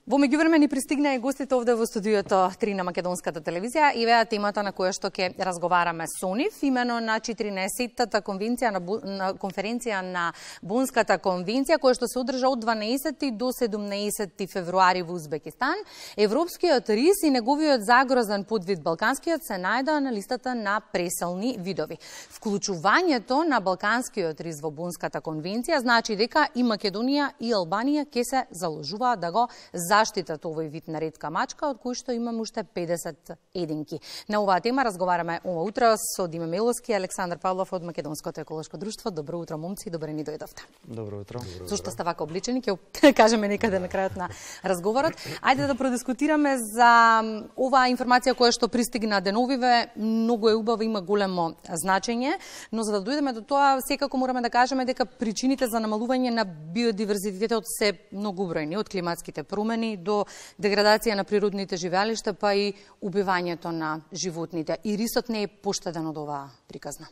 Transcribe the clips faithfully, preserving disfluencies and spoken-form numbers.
Во меѓувреме ни пристигна и гостите овде во студиото три на Македонската телевизија и веа темата на која што ќе разговараме со нив, имено на четиринаесеттата конвенција на, Бу... на конференција на Бонската конвенција, која што се одржа од дванаесети до седумнаесети февруари во Узбекистан. Европскиот рис и неговиот загрозен подвид балканскиот се најдоа на листата на преселни видови. Вклучувањето на балканскиот рис во Бонската конвенција значи дека и Македонија и Албанија ќе се заложуваат да го заштитат овој вид на ретка мачка, од кој што имаме уште педесет единки. На оваа тема разговараме ова утро со Диме Меловски и Александар Павлов од Македонското еколошко друштво. Добро утро, момци, добро ни дојдовте. Добро утро. Зошто сте вака обличени, ќе кажеме некаде на крајот на разговорот. Ајде да продискутираме за оваа информација која што пристигна деновиве. Многу е убава, има големо значење, но за да дојдеме до тоа, секако мораме да кажеме дека причините за намалување на биодиверзитетот се многобројни, од климатските промени до деградација на природните живеалишта, па и убивањето на животните. И рисот не е поштеден од оваа приказна.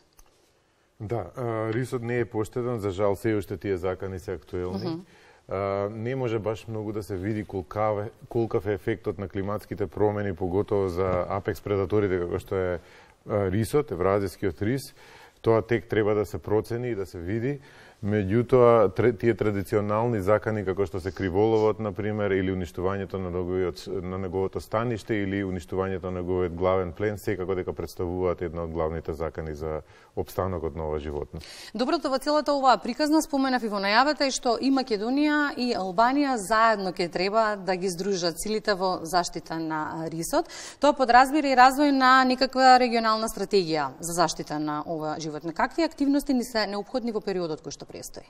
Да, рисот не е поштеден, за жал се уште тие закани се актуелни. Uh -huh. Не може баш многу да се види колкав, колкав е ефектот на климатските промени, поготово за апекс предаторите, како што е рисот, евразискиот рис. Тоа тек треба да се процени и да се види. Меѓутоа, тие традиционални закани, како што се криволовот, например, или уништувањето на неговиот, на неговото станиште, или уништувањето на неговиот главен плен, секако дека представуваат една од главните закани за обстанокот на ова животно. Доброто во целата оваа приказна, споменав и во најавата, е што и Македонија и Албанија заедно ќе треба да ги здружат силите во заштита на рисот. Тоа подразбира и развој на некаква регионална стратегија за заштита на ова животно. Какви активности ни се неопходни во периодот кој што престои?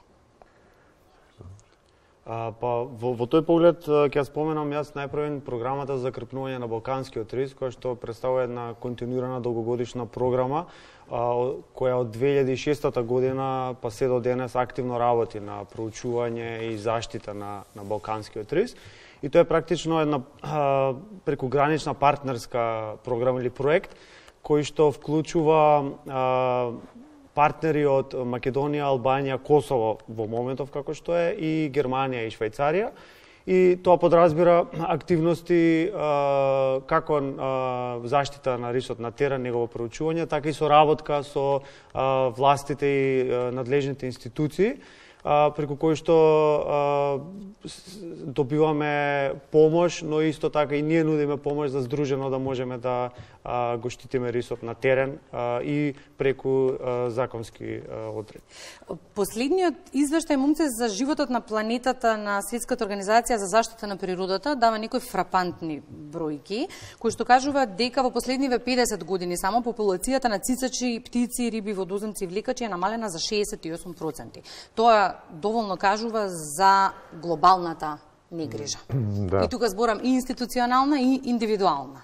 А, па, во, во тој поглед ќе споменам јас најпрвен програмата за закрепнување на балканскиот рис, која што представува една континуирана долгогодишна програма, а, која од две илјади и шеста година па се до денес активно работи на проучување и заштита на, на балканскиот рис. И тоа е практично една а, прекогранична партнерска програма или проект, кој што вклучува а, партнери од Македонија, Албанија, Косово во моментов како што е, и Германија и Швајцарија. И тоа подразбира активности а, како а, заштита на рисот на терен, негово проучување, така и соработка со а, властите и а, надлежните институции, а, преку кои што а, добиваме помош, но исто така и ние нудиме помош за здружено да можеме да а, го штитиме рисот на терен а, и преку а, законски а, одредби. Последниот извештај, момци, за животот на планетата на Светската организација за заштита на природата дава некои фрапантни бројки, кои што кажуваат дека во последниве педесет години само популацијата на цицачи, птици, риби, водоземци и влекачи е намалена за шеесет и осум проценти. Тоа доволно кажува за глобалната негрижа. Да. И тука зборам и институционална и индивидуална.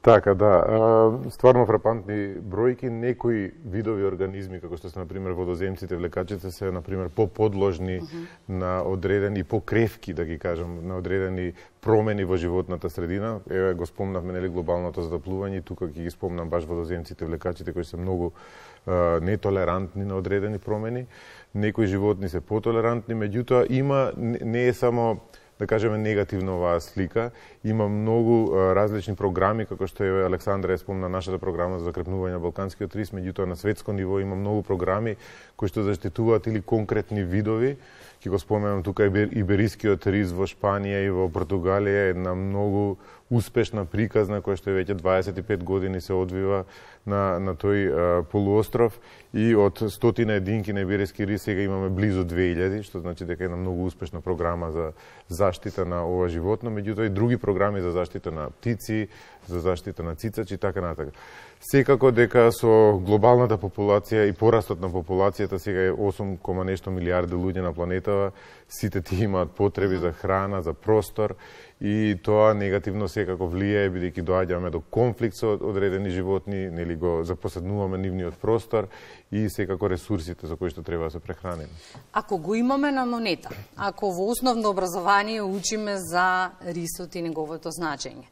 Така, да. Стварно фрапантни бројки. Некои видови организми, како што се, например, водоземците, влекачите, се, например, поподложни uh -huh. на одредени, покревки, да ги кажам, на одредени промени во животната средина. Еве, го спомнавме, нели, глобалното затоплување, тука ќе ги спомнам баш водоземците, влекачите, кои се многу а, нетолерантни на одредени промени. Некои животни се потолерантни, меѓутоа има, не е само, да кажеме, негативна оваа слика. Има многу а, различни програми, како што е Александра е спомна нашата програма за закрепнување на балканскиот рис, меѓутоа на светско ниво има многу програми кои што заштитуваат или конкретни видови. Ќе го споменам тука иберискиот рис во Шпанија и во Португалија, една многу успешна приказна која што веќе дваесет и пет години се одвива на, на тој а, полуостров, и од стотина единки на ибериски рис сега имаме близу две илјади, што значи дека е една многу успешна програма за заштита на ова животно, меѓутоа и други програми за заштита на птици, за заштита на цицачи и така натака. Секако дека со глобалната популација и порастот на популацијата, сега е осум кома нешто милиарди луѓе на планетава, сите тие имаат потреби за храна, за простор, и тоа негативно секако влијае, бидејќи доаѓаме до конфликт со одредени животни, нели го запоседнуваме нивниот простор и секако ресурсите за кои што треба да се прехраниме. Ако го имаме на монета, ако во основно образование учиме за рисот и неговото значење,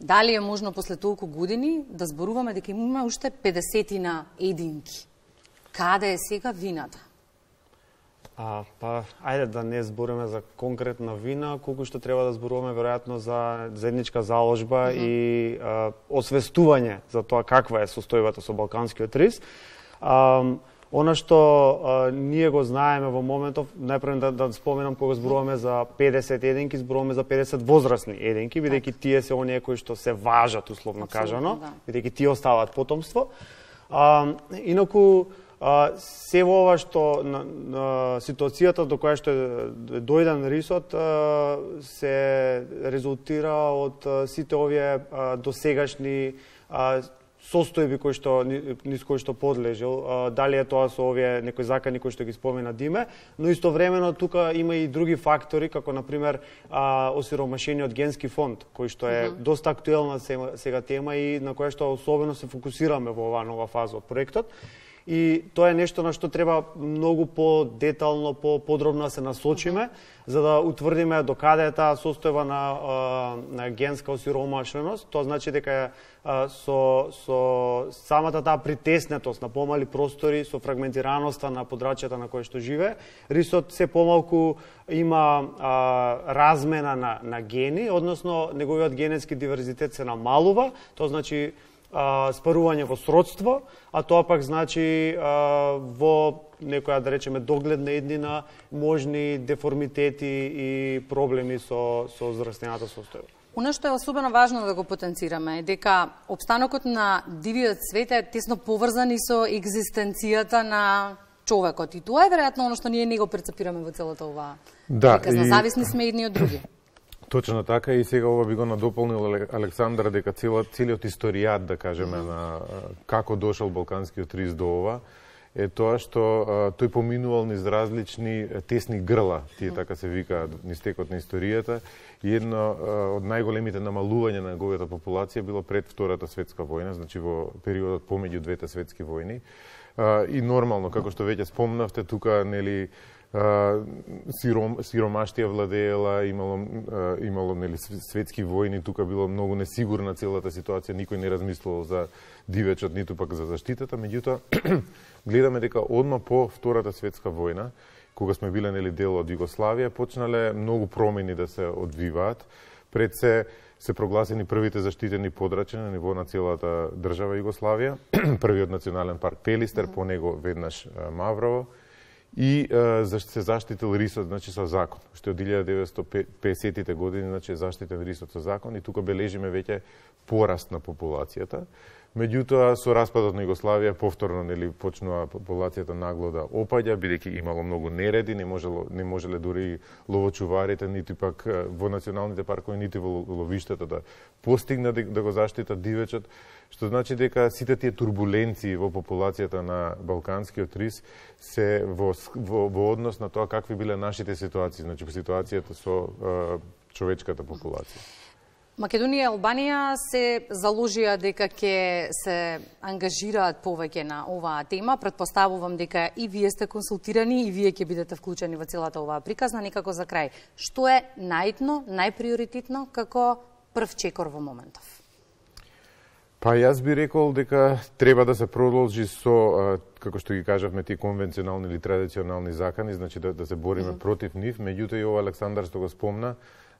дали е можно после толку години да зборуваме дека имаме уште педесетина единки? Каде е сега вината? А, па, ајде да не збориме за конкретна вина, колку што треба да зборуваме веројатно за заедничка заложба mm -hmm. и а, освестување за тоа каква е состојбата со балканскиот рис. А, Она што а, ние го знаеме во моментов, најпрво да, да споменам кога зборуваме за педесет еденки, зборуваме за педесет возрастни еденки, бидејќи тие се оние кои што се важат, условно кажано, да. Бидејќи тие оставаат потомство. А, инаку, а, се во ова што на, на ситуацијата до која што е дојден рисот а, се резултира од а, сите овие а, досегашни а, состојби кои што низ кои што подлежал, дали е тоа со овие некои закани кои што ги спомена Диме, но истовремено тука има и други фактори, како на пример осиромашениот генски фонд, кој што е mm-hmm. доста актуелна сега тема и на која што особено се фокусираме во оваа нова фаза од проектот. И тоа е нешто на што треба многу по-детално, по-подробно да се насочиме, за да утврдиме докаде е таа состојба на, на генска осиромашеност. Тоа значи дека со, со самата таа притеснетост на помали простори, со фрагментираноста на подрачјата на кои што живее, рисот се помалку има а, размена на, на гени, односно неговиот генетски диверзитет се намалува, тоа значи спарување во сродство, а тоа пак значи а, во некоја, да речеме, догледна еднина, можни деформитети и проблеми со, со зрастената состојба. Оно што е особено важно да го потенцираме е дека опстанокот на дивиот свет е тесно поврзан и со екзистенцијата на човекот. И тоа е веројатно оно што ние не го перцепираме во целата оваа да, приказна. И... Зависни сме едни од други. Точно така, и сега ова би го надополнил Александар, дека целиот историјат, да кажеме, на како дошол балканскиот рис до ова, е тоа што а, тој поминувал низ различни тесни грла, тие така се викаат, низ текот на историјата, и едно а, од најголемите намалувања на неговата популација било пред Втората светска војна, значи во периодот помеѓу двете светски војни. А, и нормално, како што веќе спомнавте, тука, нели, Uh, сиром, сиромаштија владеела, имало, uh, имало нели, светски војни, тука било многу несигурна целата ситуација, никој не размислувал за дивечот, ниту пак за заштитата, меѓутоа гледаме дека одма по Втората светска војна, кога сме биле нели дел од Југославија, почнале многу промени да се одвиваат. Пред се се прогласени првите заштитени подрачја на ниво на целата држава Југославија, првиот национален парк Пелистер, по него веднаш Маврово, и е, се заштитил рисот, значи, со закон. Што од илјада деветстотини и песетите години, значи, е заштитен рисот со закон и тука бележиме веќе пораст на популацијата. Меѓутоа, со распадот на Југославија, повторно, нели, почнува популацијата нагло да опаѓа, бидејќи имало многу нереди, не можело, не можеле дури ловочуварите, нити пак во националните паркови, нити во ловиштата да постигнат да, да го заштитат дивечот, што значи дека сите тие турбуленции во популацијата на балканскиот рис се во, во, во однос на тоа какви биле нашите ситуации, значи ситуацијата со е, човечката популација. Македонија и Албанија се заложија дека ќе се ангажираат повеќе на оваа тема. Претпоставувам дека и вие сте консултирани и вие ќе бидете вклучени во целата оваа приказна. Некако за крај, што е најитно, најприоритетно како прв чекор во моментов? Па јас би рекол дека треба да се продолжи со, како што ги кажавме, тие конвенционални или традиционални закани, значи да, да се бориме mm -hmm. против нив. Меѓутоа и ова Александар што го спомна,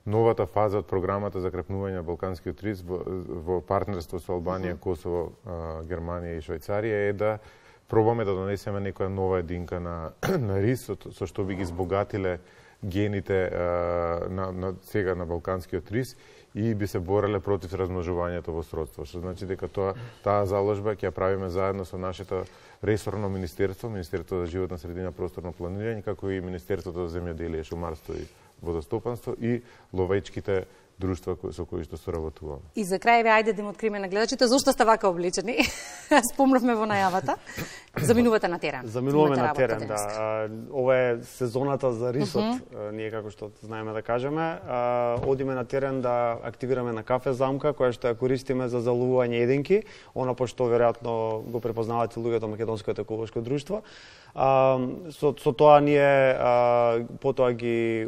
новата фаза од програмата за крепнување на балканскиот рис во, во партнерство со Албанија, mm -hmm. Косово, Германија и Швајцарија е да пробаме да донесеме некоја нова единка на, на рис, со, со што би ги збогатиле гените на, на сега на балканскиот рис и би се бореле против размножувањето во сродство. Што значи дека тоа таа заложба ќе ја правиме заедно со нашето ресорно министерство, Министерството за животна средина, просторно планирање, како и Министерството за земјоделие, шумарство и водостопанство и ловечките друштва со кои што соработуваме. И за крај, ве, ајде да им откриеме на гледачите зошто сте вака облечени. Спомнавме во најавата. Заминувате на терен. Заминуваме на терен, да. Ова е сезоната за рисот, uh -huh. ние како што знаеме да кажеме. Одиме на терен да активираме на кафе замка, која што ја користиме за заловување единки, она пошто веројатно го препознавате луѓето Македонското еколошко друштво. Со, со тоа ние потоа ги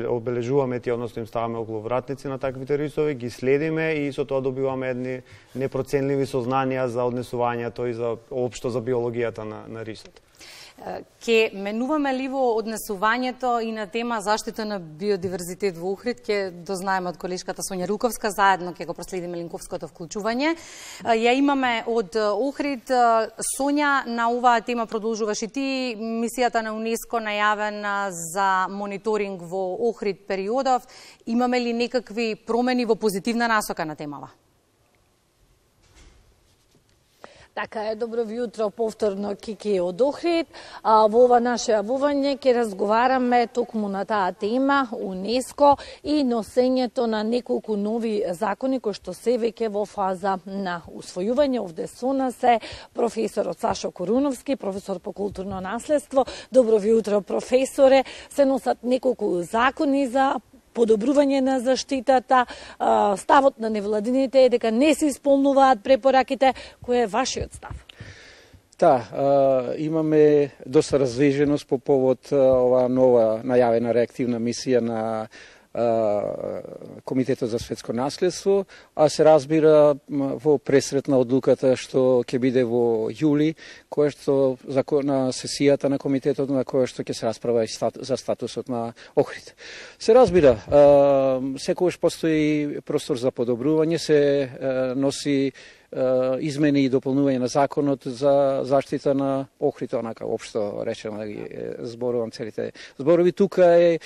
обележуваме тие, односно им ставаме околу вратници на таквите рисови, ги следиме и со тоа добиваме едни непроценливи сознанија за однесувањето и за општо за биологијата на, на рисот. Ке менуваме ли во однесувањето и на тема заштита на биодиверзитет во Охрид, ке дознаеме од колешката Сонја Руковска, заедно ке го проследиме линковското вклучување. Ја имаме од Охрид. Сонја, на оваа тема продолжуваш и ти. Мисијата на УНЕСКО најавена за мониторинг во Охрид периодов. Имаме ли некакви промени во позитивна насока на темава? Така е, добро ви утро, повторно Кики од Охрид. А, во ова наше јавување ќе разговараме токму на таа тема, УНЕСКО и носењето на неколку нови закони кои што се веќе во фаза на усвојување. Овде со нас е професорот Сашо Коруновски, професор по културно наследство. Добро ви утро, професоре. Се носат неколку закони за подобрување на заштитата. Ставот на невладините е дека не се исполнуваат препораките. Кој е вашиот став? Да, имаме доста развеженост по повод ова нова најавена реактивна мисија на Комитетот за светско наследство, а се разбира во пресрет на одлуката што ќе биде во јули, која што на сесијата на комитетот на која што ќе се расправа и за статусот на Охрид. Се разбира, секогаш постои простор за подобрување, се носи измени и дополнување на законот за заштита на Охрид, онака општо речено да ги зборувам целите зборови. Тука е,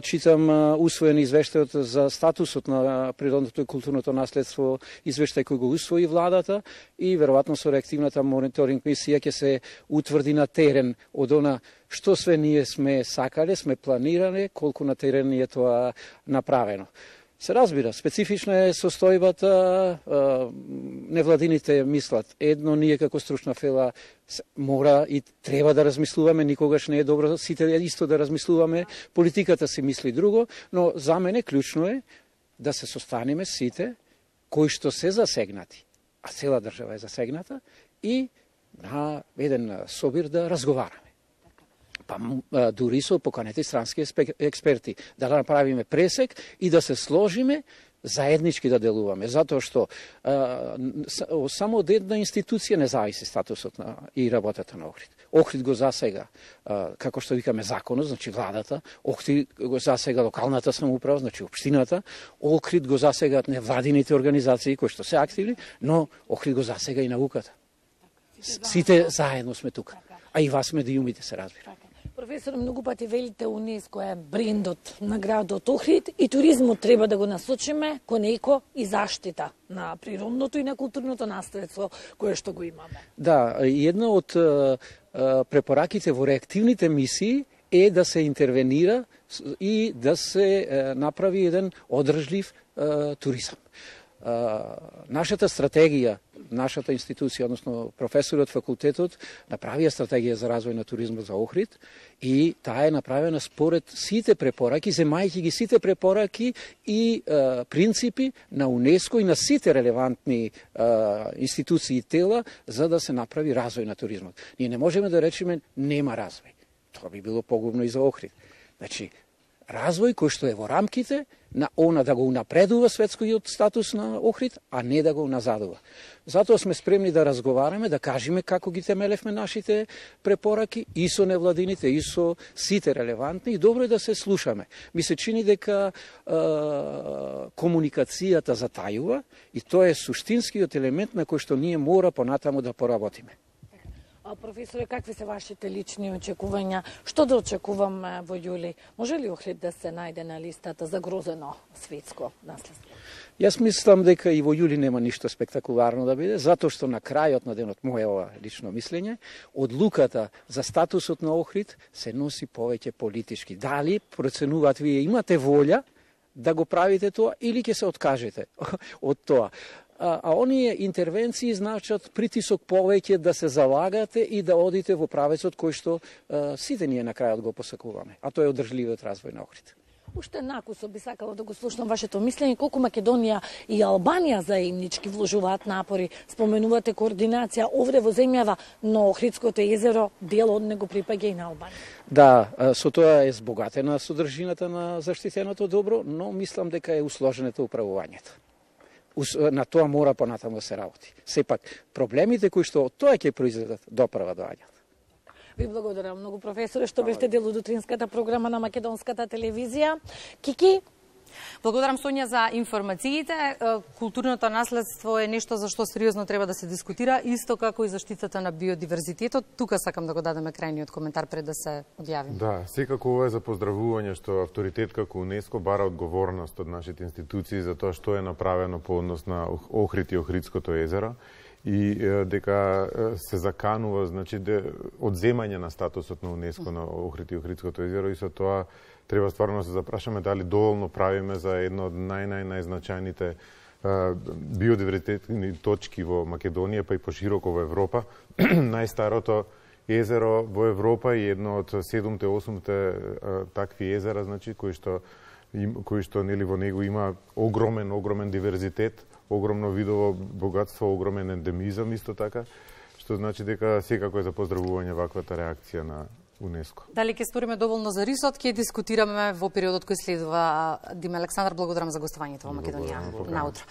читам, усвоен извештајот за статусот на природното и културното наследство, извештај кој го усвои владата и веројатно со реактивната мониторинг мисија ќе се утврди на терен од она што све ние сме сакале, сме планиране, колку на терен е тоа направено. Се разбира, специфична е состојбата, невладините мислат едно, ние како стручна фела мора и треба да размислуваме, никогаш не е добро сите исто да размислуваме, политиката си мисли друго, но за мене клучно е да се состанеме сите кои што се засегнати, а цела држава е засегната, и на еден собир да разговараме. Па дури со поканети странски експерти, да направиме пресек и да се сложиме заеднички да делуваме, затоа што а, само од една институција не зависи статусот на и работата на Охрид. Охрид го засега, а, како што викаме, законот, значи владата, Охрид го засега локалната самоуправа, значи општината, Охрид го засегаат невладините организации кои што се активни, но Охрид го засега и науката. Сите заедно сме тука, а и вас медиумите се разбира. Професор, многу пати велите УНЕСКО е брендот на градот Охрид и туризмот треба да го насочиме кон еко и заштита на природното и на културното наследство кое што го имаме. Да, една од препораките во реактивните мисии е да се интервенира и да се направи еден одржлив туризам. Нашата стратегија, нашата институција, односно професорот факултетот, направија стратегија за развој на туризмот за Охрид и таа е направена според сите препораки, земајќи ги сите препораки и е, принципи на УНЕСКО и на сите релевантни е, институции и тела за да се направи развој на туризмот. Ние не можеме да речеме нема развој. Тоа би било погубно и за Охрид. Значи, развој кој што е во рамките на она да го унапредува светскиот статус на Охрид, а не да го назадува. Затоа сме спремни да разговараме, да кажеме како ги темелевме нашите препораки и со невладините, и со сите релевантни, и добро е да се слушаме. Ми се чини дека е, комуникацијата затајува и тоа е суштинскиот елемент на кој што ние мора понатаму да поработиме. А, професоре, какви се вашите лични очекувања? Што да очекуваме во јули? Може ли Охрид да се најде на листата за грозено светско наследство? Јас мислам дека и во јули нема ништо спектакуларно да биде, затоа што на крајот на денот, моје ова лично мислење, одлуката за статусот на Охрид се носи повеќе политички. Дали проценуваат вие имате волја да го правите тоа или ќе се откажете од тоа? А, а оние интервенции значат притисок повеќе да се залагате и да одите во правецот кој што а, сите ние на крајот го посакуваме, а тоа е одржливиот развој на Охрид. Уште накусо би сакала да го слушнам вашето мислење, колку Македонија и Албанија заеднички вложуваат напори. Споменувате координација овде во земјава, но Охридското езеро дел од него припаѓа и на Албанија. Да, со тоа е збогатена содржината на заштитеното добро, но мислам дека е усложнето управувањето. На тоа мора понатаму да се работи. Сепак, проблемите кои што од тоа ќе произведат доправа доаѓаат. Ви благодарам многу, професоре, што бевте дел од утринската програма на македонската телевизија. Кики? Благодарам, Сонја, за информациите. Културното наследство е нешто за што сериозно треба да се дискутира, исто како и заштитата на биодиверзитетот. Тука сакам да го дадеме крајниот коментар пред да се одјавиме. Да, секако ова е за поздравување што авторитет како УНЕСКО бара одговорност од нашите институции за тоа што е направено по однос на Охрид и Охридското езеро и дека се заканува, значи, одземање на статусот на УНЕСКО на Охрид и Охридското езеро и со тоа треба стварно да се запрашаме дали доволно правиме за едно од нај-нај-најзначајните биодиверзитетни точки во Македонија, па и пошироко во Европа. Најстарото езеро во Европа и едно од седумте-осумте такви езера, значи, кои што, кои што нели, во него има огромен, огромен диверзитет, огромно видово богатство, огромен ендемизам исто така, што значи дека секако е за поздравување ваквата реакција на УНЕСКО. Дали ќе сториме доволно за рисот, ќе дискутираме во периодот кој следува. Диме Александар, благодарам за гостувањето во Македонија наутро.